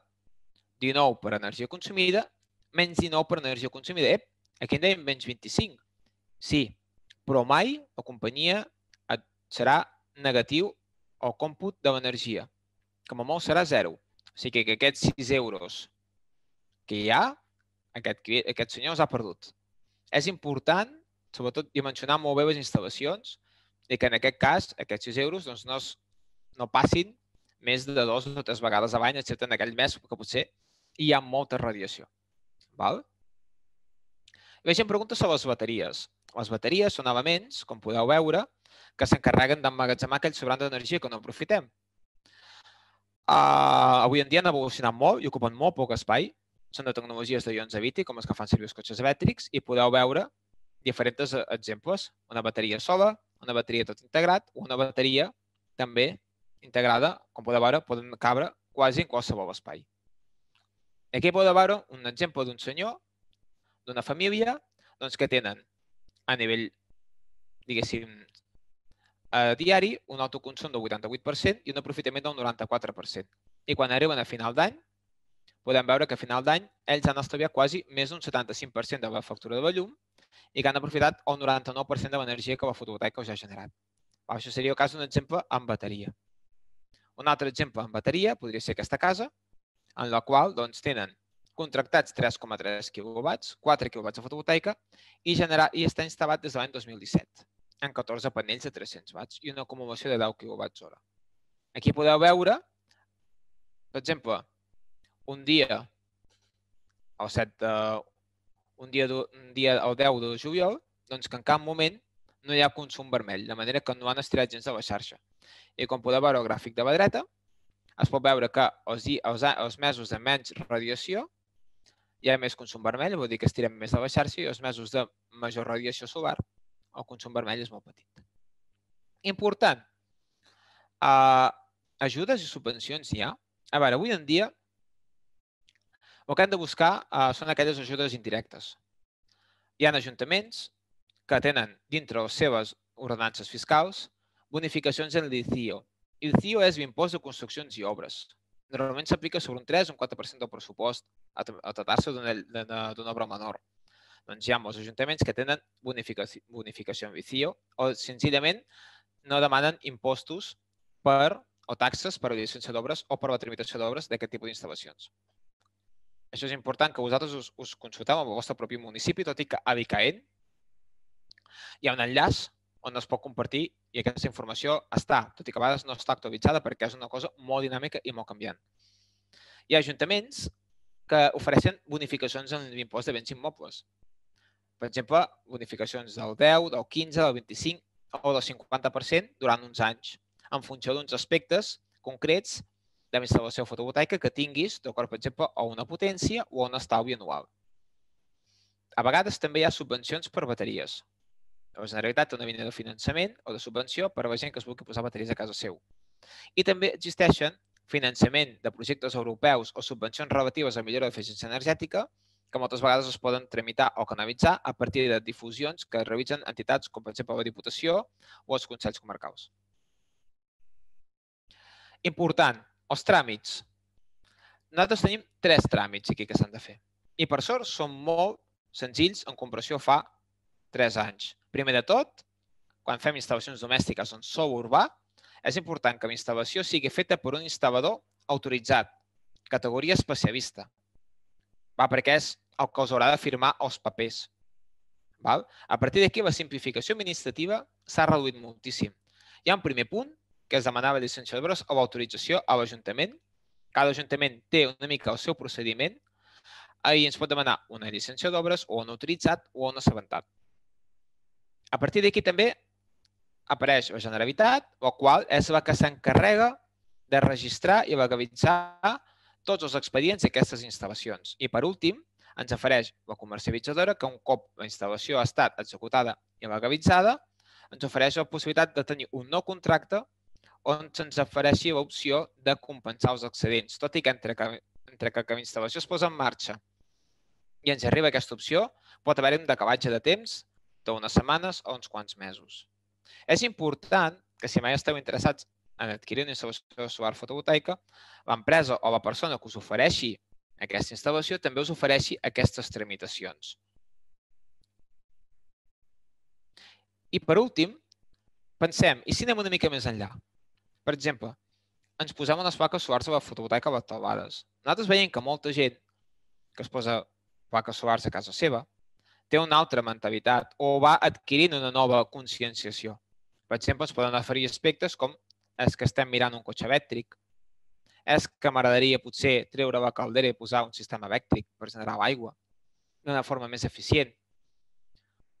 dinou per energia consumida, menys dinou per energia consumida. Ep, aquí en dèiem menys vint-i-cinc. Sí, però mai la companyia serà negatiu el còmput de l'energia. Com a molt serà zero. O sigui que aquests sis euros que hi ha, aquest, aquest senyor els ha perdut. És important, sobretot, dimensionar molt bé les instal·lacions i que en aquest cas, aquests sis euros doncs, no, no passin més de dos o tres vegades a l'any, excepte en aquell mes que potser hi ha molta radiació. Val? I la gent pregunta sobre les bateries. Les bateries són elements, com podeu veure, que s'encarreguen d'emmagatzemar aquell sobrant d'energia que no aprofitem. Uh, avui en dia han evolucionat molt i ocupen molt poc espai. Són de tecnologies de ions de liti, com les que fan servir els cotxes elèctrics, i podeu veure diferents exemples. Una bateria sola, una bateria tot integrat, o una bateria també integrada, com podeu veure, poden cabre quasi en qualsevol espai. Aquí podeu veure un exemple d'un senyor, d'una família, doncs, que tenen a nivell, diguéssim, a diari, un autoconsum del vuitanta-vuit per cent i un aprofitament del noranta-quatre per cent. I quan arriben a final d'any, podem veure que a final d'any ells han estalviat quasi més d'un setanta-cinc per cent de la factura de la llum i que han aprofitat el noranta-nou per cent de l'energia que la fotovoltaica us ha generat. Això seria el cas d'un exemple amb bateria. Un altre exemple amb bateria podria ser aquesta casa, en la qual tenen contractats tres coma tres quilowatts, quatre quilowatts de fotovoltaica i està instal·lat des de l'any dos mil disset, en catorze panells de tres-cents watts i una acumulació de deu quilowatts hora. Aquí podeu veure, per exemple, un dia el deu de juliol, doncs que en cap moment no hi ha consum vermell, de manera que no han estirat gens de la xarxa. I com podeu veure al gràfic de la dreta, es pot veure que els mesos de menys radiació hi ha més consum vermell, vol dir que estirem més de la xarxa, i els mesos de major radiació solar el consum vermell és molt petit. Important, ajudes i subvencions hi ha. A veure, avui en dia el que hem de buscar són aquelles ajudes indirectes. Hi ha ajuntaments que tenen dintre les seves ordenances fiscals bonificacions en l'I C I O. I C I O és l'impost de construccions i obres. Normalment s'aplica sobre un tres o un quatre per cent del pressupost a tractar-se d'una obra menor. Doncs hi ha molts ajuntaments que tenen bonificació en I C I O o senzillament no demanen impostos o taxes per a la llicència d'obres o per a la tramitació d'obres d'aquest tipus d'instal·lacions. Això és important que vosaltres us consulteu amb el vostre propi municipi, tot i que a l'ICAEN hi ha un enllaç on es pot compartir i aquesta informació està, tot i que a vegades no està actualitzada perquè és una cosa molt dinàmica i molt canviant. Hi ha ajuntaments que ofereixen bonificacions en l'impost de béns immobles. Per exemple, bonificacions del deu, del quinze, del vint-i-cinc o del cinquanta per cent durant uns anys, en funció d'uns aspectes concrets de la instal·lació fotovoltaica que tinguis, d'acord, per exemple, a una potència o a un estalvi anual. A vegades també hi ha subvencions per bateries. La Generalitat té una línia de finançament o de subvenció per a la gent que es vulgui posar bateries a casa seu. I també existeixen finançament de projectes europeus o subvencions relatives a millora d'eficiència energètica que moltes vegades es poden tramitar o canalitzar a partir de difusions que realitzen entitats com, per exemple, la Diputació o els Consells Comarcals. Important, els tràmits. Nosaltres tenim tres tràmits aquí que s'han de fer. I per sort són molt senzills en comparació a fa tres anys. Primer de tot, quan fem instal·lacions domèstiques en sòl urbà, és important que la instal·lació sigui feta per un instal·lador autoritzat, categoria especialista, perquè és el que us haurà de firmar els papers. A partir d'aquí, la simplificació administrativa s'ha reduït moltíssim. Hi ha un primer punt, que és demanar la llicència d'obres o l'autorització a l'Ajuntament. Cada Ajuntament té una mica el seu procediment i ens pot demanar una llicència d'obres o un autoritzat o un assabentat. A partir d'aquí també apareix la Generalitat, la qual és la que s'encarrega de registrar i legalitzar tots els expedients d'aquestes instal·lacions. I per últim, ens ofereix la comercialitzadora que un cop la instal·lació ha estat executada i legalitzada, ens ofereix la possibilitat de tenir un nou contracte on se'ns ofereixi l'opció de compensar els excedents. Tot i que entre que la instal·lació es posa en marxa i ens arriba aquesta opció, pot haver-hi un decalatge de temps d'unes setmanes o uns quants mesos. És important que si mai esteu interessats en adquirir una instal·lació solar fotovoltaica, l'empresa o la persona que us ofereixi aquesta instal·lació també us ofereixi aquestes tramitacions. I per últim, pensem, i si anem una mica més enllà? Per exemple, ens posem unes plaques solars a la fotovoltaica a les teulades. Nosaltres veiem que molta gent que es posa plaques solars a casa seva té una altra mentalitat o va adquirint una nova conscienciació. Per exemple, ens poden oferir aspectes com és que estem mirant un cotxe elèctric, és que m'agradaria potser treure la caldera i posar un sistema elèctric per generar l'aigua d'una forma més eficient.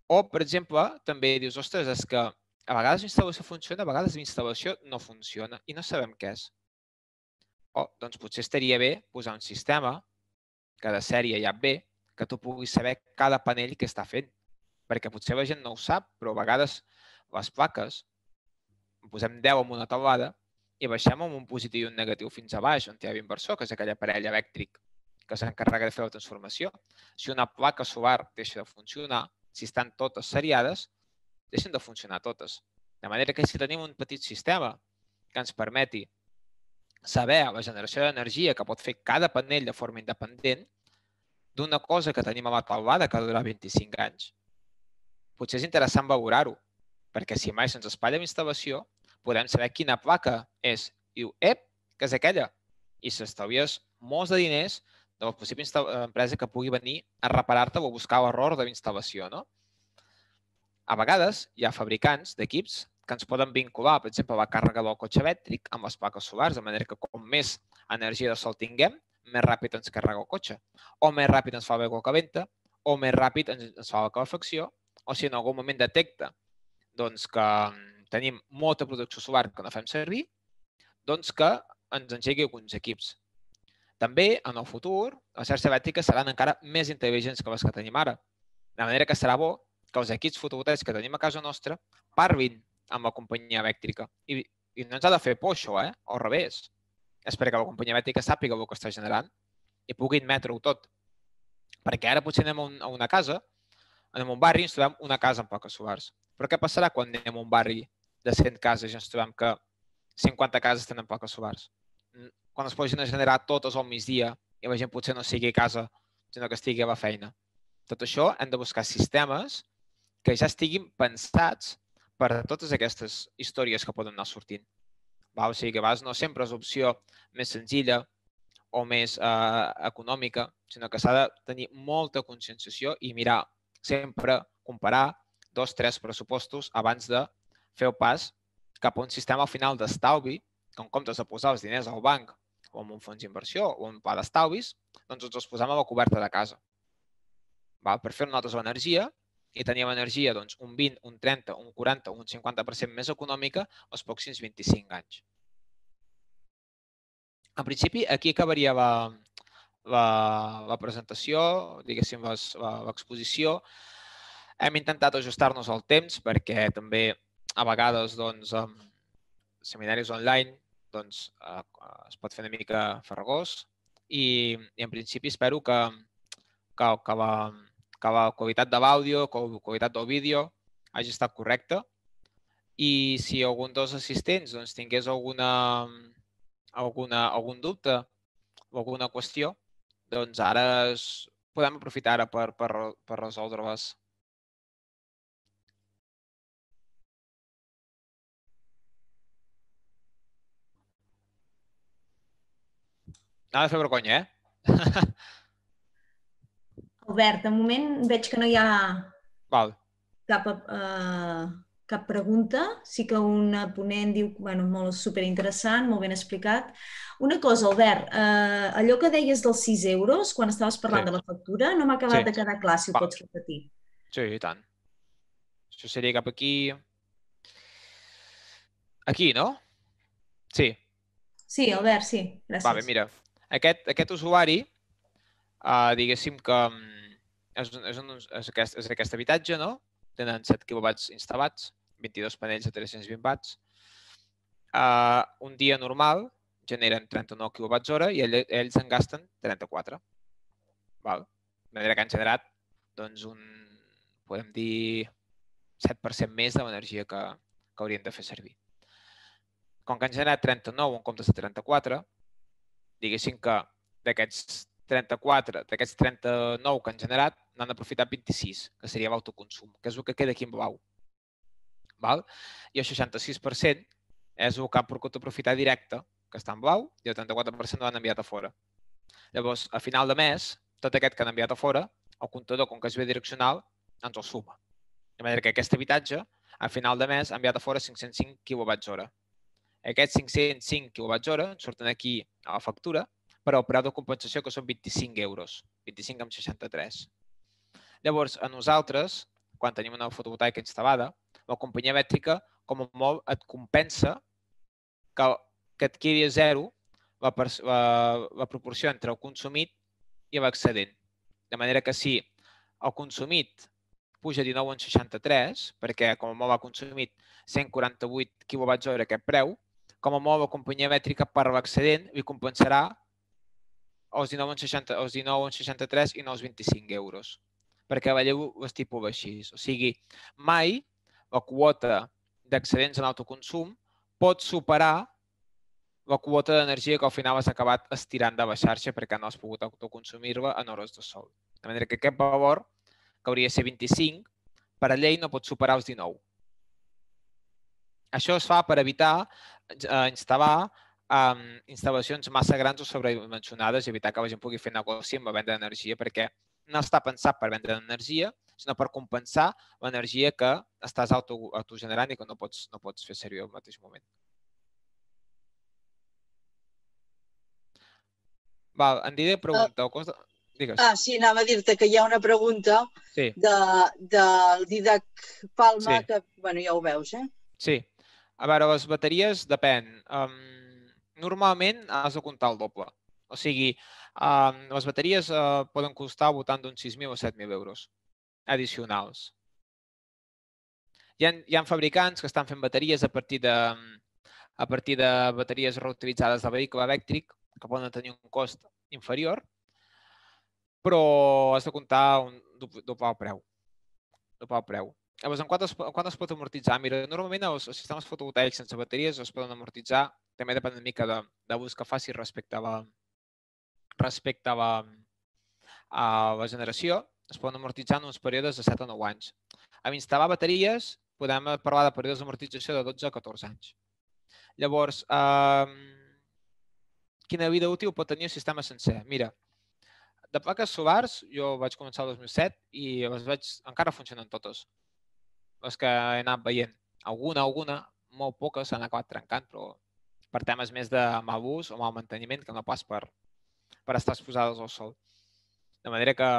O, per exemple, també dius, ostres, és que a vegades la instal·lació funciona, a vegades la instal·lació no funciona i no sabem què és. O, doncs potser estaria bé posar un sistema que de sèrie ja ve, que tu puguis saber cada panell que està fent. Perquè potser la gent no ho sap, però a vegades les plaques, en posem deu en una taulada i baixem amb un positiu i un negatiu fins a baix, on hi ha l'inversor, que és aquell aparell elèctric que s'encarrega de fer la transformació. Si una placa solar deixa de funcionar, si estan totes seriades, deixen de funcionar totes. De manera que si tenim un petit sistema que ens permeti saber la generació d'energia que pot fer cada panell de forma independent d'una cosa que tenim a la taulada que durarà vint-i-cinc anys. potser és interessant valorar-ho, perquè si mai se'ns espatlla l'instal·lació, podem saber quina placa és. I diu, ep, que és aquella. I s'estalvies molts de diners de la possible empresa que pugui venir a reparar-te o a buscar l'error de l'instal·lació, no? A vegades hi ha fabricants d'equips que ens poden vincular, per exemple, la càrrega del cotxe elèctric amb les plaques solars, de manera que com més energia de sol tinguem, més ràpid ens carrega el cotxe, o més ràpid ens fa l'aigua calenta, o més ràpid ens fa la calefacció, o si en algun moment detecta doncs, que tenim molta producció solar que no fem servir, doncs que ens engegui alguns equips. També, en el futur, les xarxes elèctriques seran encara més intel·ligents que les que tenim ara. De manera que serà bo que els equips fotovoltaics que tenim a casa nostra parlin amb la companyia elèctrica. I, i no ens ha de fer por això, eh? O al revés. És perquè la companyia elèctrica sàpiga el que està generant i pugui admetre-ho tot. Perquè ara potser anem a, un, a una casa, anem a un barri i ens trobem una casa amb plaques solars. Però què passarà quan anem a un barri de cent cases i ens trobem que cinquanta cases tenen plaques solars? Quan es posin a generar totes al migdia i la gent potser no sigui a casa, sinó que estigui a la feina. Tot això hem de buscar sistemes que ja estiguin pensats per a totes aquestes històries que poden anar sortint. O sigui que a vegades no sempre és l'opció més senzilla o més eh, econòmica, sinó que s'ha de tenir molta conscienciació i mirar, sempre comparar dos, tres pressupostos abans de fer el pas cap a un sistema al final d'estalvi, que en comptes de posar els diners al banc o en un fons d'inversió o en un pla d'estalvis, doncs ens els posem a la coberta de casa. Val? Per fer nosaltres l'energia i tenir l'energia doncs, un vint, un trenta, un quaranta o un cinquanta per cent més econòmica els pròxims vint-i-cinc anys. En principi, aquí acabaria la, la, la presentació, diguéssim, l'exposició. Hem intentat ajustar-nos al temps perquè també a vegades doncs, amb seminaris online doncs, eh, es pot fer una mica farragós i, i en principi espero que, que, que, la, que la qualitat de l'àudio, que la qualitat del vídeo hagi estat correcta i si algun dels assistents doncs, tingués alguna, alguna, algun dubte o alguna qüestió, doncs ara es, podem aprofitar ara per, per, per resoldre-les. No ha de fer vergonya, eh? Albert, de moment veig que no hi ha Val. cap, uh, cap pregunta. Sí que una ponent diu, bueno, molt superinteressant, molt ben explicat. Una cosa, Albert, uh, allò que deies dels sis euros, quan estaves parlant Sí. de la factura, no m'ha acabat Sí. de quedar clar, si ho Va. pots repetir. Sí, i tant. Això seria cap aquí. Aquí, no? Sí. Sí, Albert, sí. Gràcies. Va bé, mira. Aquest, aquest usuari, uh, diguéssim que és, és, un, és, aquest, és aquest habitatge, no? Tenen set quilowatts instal·lats, vint-i-dos panells de tres-cents vint watts. Uh, un dia normal generen trenta-nou quilowatts hora i ell, ells en gasten trenta-quatre. Val? De manera que han generat doncs, un, podem dir, set per cent més de l'energia que, que haurien de fer servir. Com que han generat trenta-nou en comptes de trenta-quatre, diguéssim que d'aquests trenta-quatre, d'aquests trenta-nou que han generat, n'han aprofitat vint-i-sis, que seria l'autoconsum, que és el que queda aquí en blau. Val? I el seixanta-sis per cent és el que han pogut aprofitar directe, que està en blau, i el trenta-quatre per cent l'han enviat a fora. Llavors, a final de mes, tot aquest que han enviat a fora, el comptador, com que és bidireccional, ens el suma. De manera que aquest habitatge, a final de mes, ha enviat a fora cinc-cents cinc quilowatts hora. Aquests cinc-cents cinc quilowatts hora surten aquí a la factura, però el preu de compensació que són vint-i-cinc euros, vint-i-cinc amb seixanta-tres. Llavors, a nosaltres, quan tenim una fotovoltaica instal·lada, la companyia elèctrica, com a molt, et compensa que, que et quedi a zero la, la, la proporció entre el consumit i l'excedent. De manera que si el consumit puja dinou coma seixanta-tres, perquè com a molt ha consumit cent quaranta-vuit quilowatts hora aquest preu, com a molt la companyia elèctrica per l'excedent li compensarà els dinou coma seixanta-tres i no els vint-i-cinc euros, perquè la llei ho estipula així. O sigui, mai la quota d'excedents en autoconsum pot superar la quota d'energia que al final has acabat estirant de la xarxa perquè no has pogut autoconsumir-la en hores de sol. De manera que aquest valor, que hauria de ser vint-i-cinc, per a llei no pot superar els dinou. Això es fa per evitar eh, instal·lar eh, instal·lacions massa grans o sobredimensionades i evitar que la gent pugui fer negoci amb la venda d'energia, perquè no està pensat per vendre energia, sinó per compensar l'energia que estàs auto, autogenerant i que no pots, no pots fer servir al mateix moment. Val, en Didier pregunta... Uh, Digues. Ah, sí, anava a dir-te que hi ha una pregunta sí. de, del Didac Palma, sí. que, bueno, ja ho veus, eh? Sí. A veure, les bateries depèn. Um, normalment has de comptar el doble. O sigui, um, les bateries uh, poden costar al voltant d'uns sis mil o set mil euros addicionals. Hi ha, hi ha fabricants que estan fent bateries a partir de, a partir de bateries reutilitzades del vehicle elèctric que poden tenir un cost inferior, però has de comptar un doble el preu. Doble el preu. Llavors, en quant es, en quant es pot amortitzar? Mira, normalment els, els sistemes fotovoltaics sense bateries es poden amortitzar, també depèn una mica de, de l'ús que faci respecte a la, respecte a la, a la generació, es poden amortitzar en uns períodes de set o nou anys. Amb instal·lar bateries podem parlar de períodes d'amortització de dotze a catorze anys. Llavors, eh, quina vida útil pot tenir el sistema sencer? Mira, de plaques solars jo vaig començar el dos mil set i les veig, encara funcionen totes. Les que he anat veient. Alguna, alguna, molt poques s'han acabat trencant, però per temes més de mal ús o mal manteniment que no pas per, per estar exposades al sol. De manera que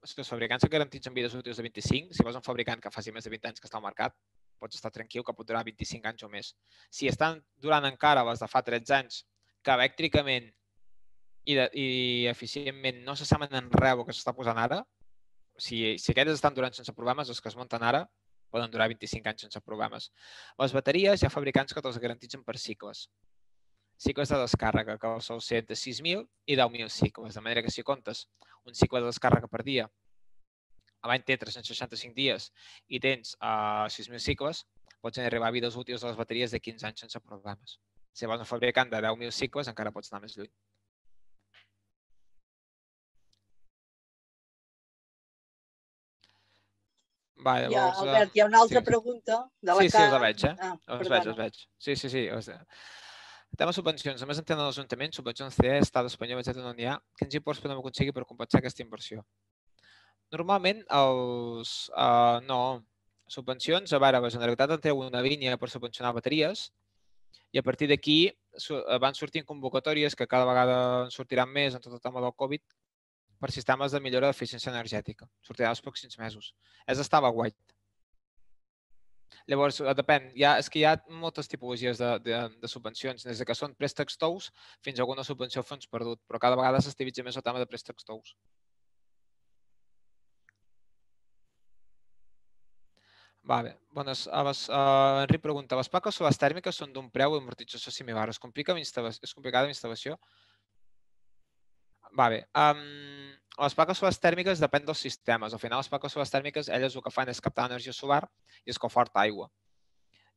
si els fabricants que garantitzen vides útils de vint-i-cinc, si vols un fabricant que faci més de vint anys que està al mercat, pots estar tranquil que pot durar vint-i-cinc anys o més. Si estan durant encara les de fa tretze anys, que elèctricament i, de, i eficientment no s'assemblen en res el que s'està posant ara, si, si aquests estan durant sense problemes, els que es munten ara poden durar vint-i-cinc anys sense problemes. Les bateries hi ha fabricants que te'ls garantitzen per cicles. Cicles de descàrrega, que sol ser de sis mil i deu mil cicles, de manera que si comptes un cicle de descàrrega per dia, l'any té tres-cents seixanta-cinc dies i tens uh, sis mil cicles, pots arribar a vides útils de les bateries de quinze anys sense problemes. Si vols un fabricant de deu mil cicles, encara pots anar més lluny. Va, llavors, ja, Albert, hi ha una altra sí. pregunta de la Sí, sí, els la veig, eh? Ah, els veig, els veig. Sí, sí, sí. El tema subvencions. A més, en tenen els ajuntaments, subvencions C E, Estat espanyol, etcètera, no n'hi ha. Quins imports podem aconseguir per compensar aquesta inversió? Normalment, els... Uh, no. Subvencions, a veure, la Generalitat en treu una línia per subvencionar bateries i a partir d'aquí van sortint convocatòries que cada vegada en sortiran més en tot el tema del Covid per sistemes de millora d'eficiència energètica. Sortirà els pròxims mesos. És estava white. Llavors, depèn. Hi ha, és que hi ha moltes tipologies de, de, de subvencions, des que són préstecs tous fins a alguna subvenció a fons perdut, però cada vegada s'estilitza més el tema de préstecs tous. Vale. Bones, les, uh, Enric pregunta, les plaques solars tèrmiques són d'un preu d'amortització similar. Es complica és complicada la instal·lació? Vale. Um, les plaques solars tèrmiques depèn dels sistemes. Al final, les plaques solars tèrmiques, elles el que fan és captar energia solar i escalfar-te aigua.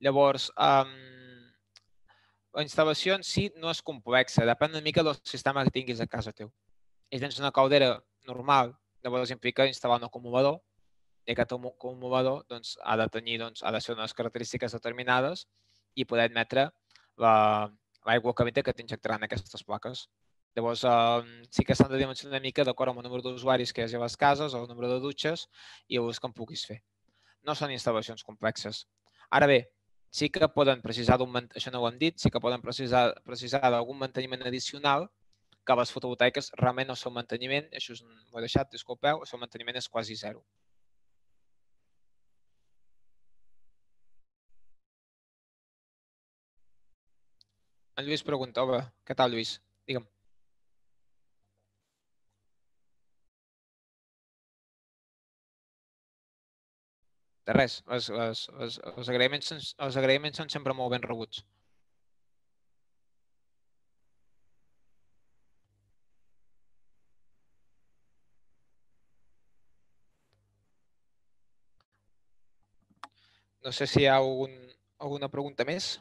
Llavors, um, la instal·lació en si no és complexa, depèn una mica del sistema que tinguis a casa teu. Si tens una caldera normal, llavors implica instal·lar un acumulador, i aquest acumulador doncs, ha de tenir, doncs, ha de ser unes característiques determinades i poder admetre l'aigua calenta que t'injectaran aquestes plaques. Llavors, eh, sí que s'han de dimensionar una mica d'acord amb el número d'usuaris que hi hagi a les cases o el número de dutxes i l'ús que en puguis fer. No són instal·lacions complexes. Ara bé, sí que poden precisar d'un, això no ho hem dit, sí que poden precisar, precisar d'algun manteniment addicional que les fotovoltaiques realment el seu manteniment, això ho he deixat, disculpeu, el seu manteniment és quasi zero. En Lluís pregunta, hola, què tal, Lluís? Digue'm. De res, els, els, els, els, agraïments, els agraïments són sempre molt ben rebuts. No sé si hi ha algun, alguna pregunta més.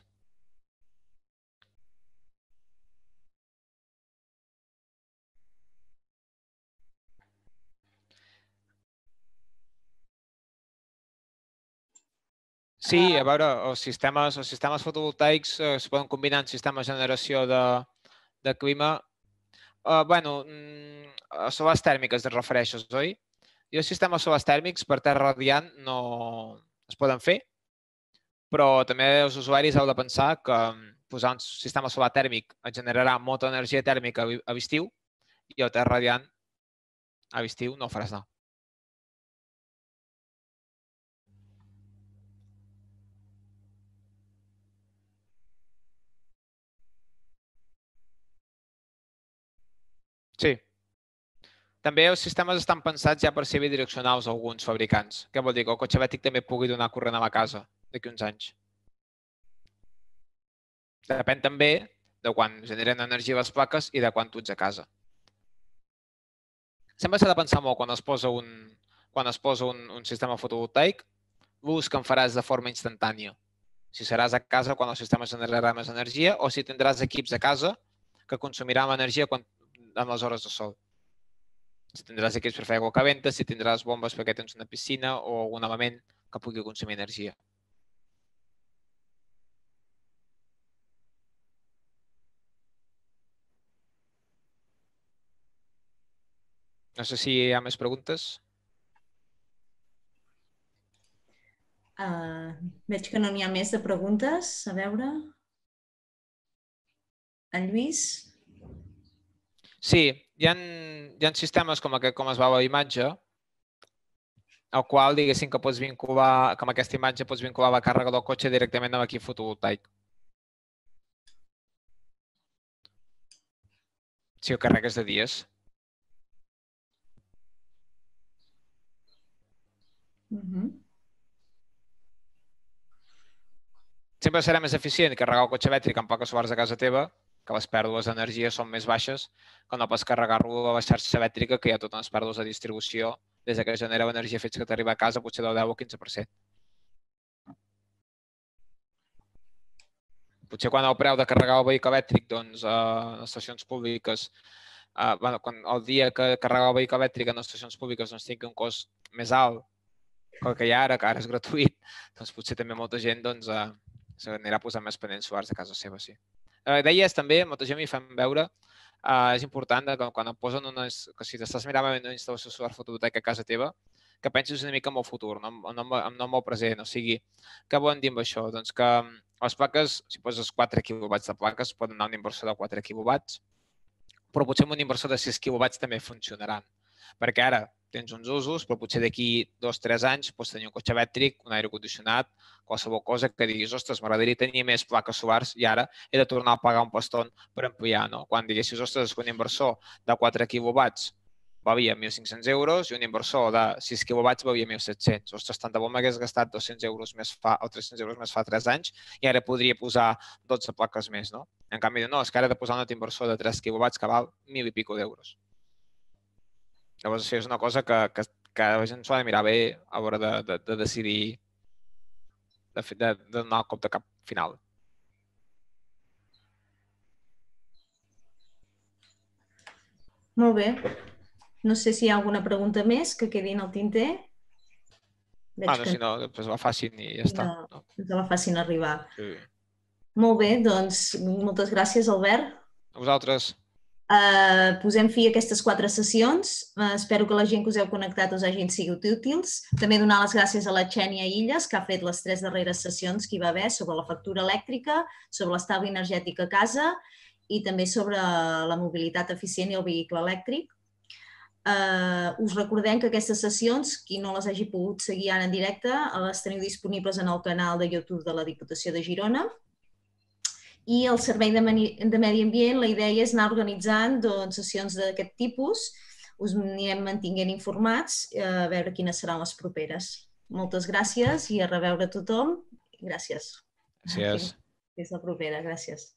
Sí, a veure, els sistemes, els sistemes fotovoltaics es poden combinar amb sistemes de generació de, de clima. Uh, bueno, a solars tèrmiques et refereixes, oi? I els sistemes solars tèrmics per terra radiant no es poden fer, però també els usuaris heu de pensar que posar un sistema solar tèrmic et generarà molta energia tèrmica a l'estiu i el terra radiant a l'estiu no faràs anar. Sí. També els sistemes estan pensats ja per ser bidireccionals alguns fabricants. Què vol dir? Que el cotxe elèctric també pugui donar corrent a la casa d'aquí uns anys. Depèn també de quan generen energia les plaques i de quan tu ets a casa. Sempre s'ha de pensar molt quan es posa un, quan es posa un, un sistema fotovoltaic, l'ús que en faràs de forma instantània. Si seràs a casa quan el sistema generarà més energia o si tindràs equips a casa que consumiran l'energia en les hores de sol. Si tindràs equips per fer aigua calenta, si tindràs bombes perquè tens una piscina o algun element que pugui consumir energia. No sé si hi ha més preguntes. Uh, veig que no n'hi ha més de preguntes. A veure... En Lluís? Sí, hi ha, hi ha sistemes com, aquest, com es veu a la imatge, al qual diguéssim que pots vincular, que amb aquesta imatge pots vincular la càrrega del cotxe directament amb l'equip fotovoltaic. Si el carregues de dies. Uh-huh. Sempre serà més eficient carregar el cotxe elèctric amb plaques solars a casa teva, que les pèrdues d'energia són més baixes, que no pots carregar-lo a la xarxa elèctrica, que hi ha totes les pèrdues de distribució, des que genera l'energia fins que t'arriba a casa, potser del deu o quinze per cent. Potser quan el preu de carregar el vehicle elèctric doncs, a les estacions públiques, eh, bueno, quan el dia que carregar el vehicle elèctric en les estacions públiques doncs, tingui un cost més alt que el que hi ha ara, que ara és gratuït, doncs potser també molta gent doncs, eh, s'anirà posant més panells solars a casa seva, sí. Eh, deies també, molta gent m'hi fan veure, eh, és important que quan et posen unes, que si t'estàs mirant una instal·lació solar fotovoltaica a casa teva, que pensis una mica en el futur, no, no, no en el present. O sigui, què volen dir amb això? Doncs que les plaques, si poses quatre quilowatts de plaques, poden anar a un inversor de quatre quilowatts, però potser amb un inversor de sis quilowatts també funcionaran. Perquè ara tens uns usos, però potser d'aquí dos o tres anys pots tenir un cotxe elèctric, un aire condicionat, qualsevol cosa que diguis, ostres, m'agradaria tenir més plaques solars i ara he de tornar a pagar un paston per ampliar. No? Quan diguessis, ostres, un inversor de quatre quilowatts valia mil cinc-cents euros i un inversor de sis quilowatts valia mil set-cents. Ostres, tant de bo m'hagués gastat dos-cents euros més fa, o tres-cents euros més fa tres anys i ara podria posar dotze plaques més. No? En canvi, no, és que ara he de posar un altre inversor de tres quilowatts que val mil i pico d'euros. Llavors, això és una cosa que, que, que la gent s'ho ha de mirar bé a l'hora de, de, de decidir, de, de, de donar el cop de cap final. Molt bé. No sé si hi ha alguna pregunta més que quedi en el tinter. Veig bueno, que... si no, doncs la facin i ja està. No, que la facin arribar. Sí. Molt bé, doncs moltes gràcies, Albert. A vosaltres. Uh, posem fi a aquestes quatre sessions. Uh, espero que la gent que us heu connectat us hagin sigut útils. També donar les gràcies a la Xènia Illes, que ha fet les tres darreres sessions que hi va haver sobre la factura elèctrica, sobre l'estalvi energètic a casa i també sobre la mobilitat eficient i el vehicle elèctric. Uh, us recordem que aquestes sessions, qui no les hagi pogut seguir ara en directe, les teniu disponibles en el canal de YouTube de la Diputació de Girona. I el Servei de Medi Ambient, la idea és anar organitzant doncs, sessions d'aquest tipus. Us anirem mantinguent informats a veure quines seran les properes. Moltes gràcies i a reveure a tothom. Gràcies. Gràcies. Fins la propera. Gràcies.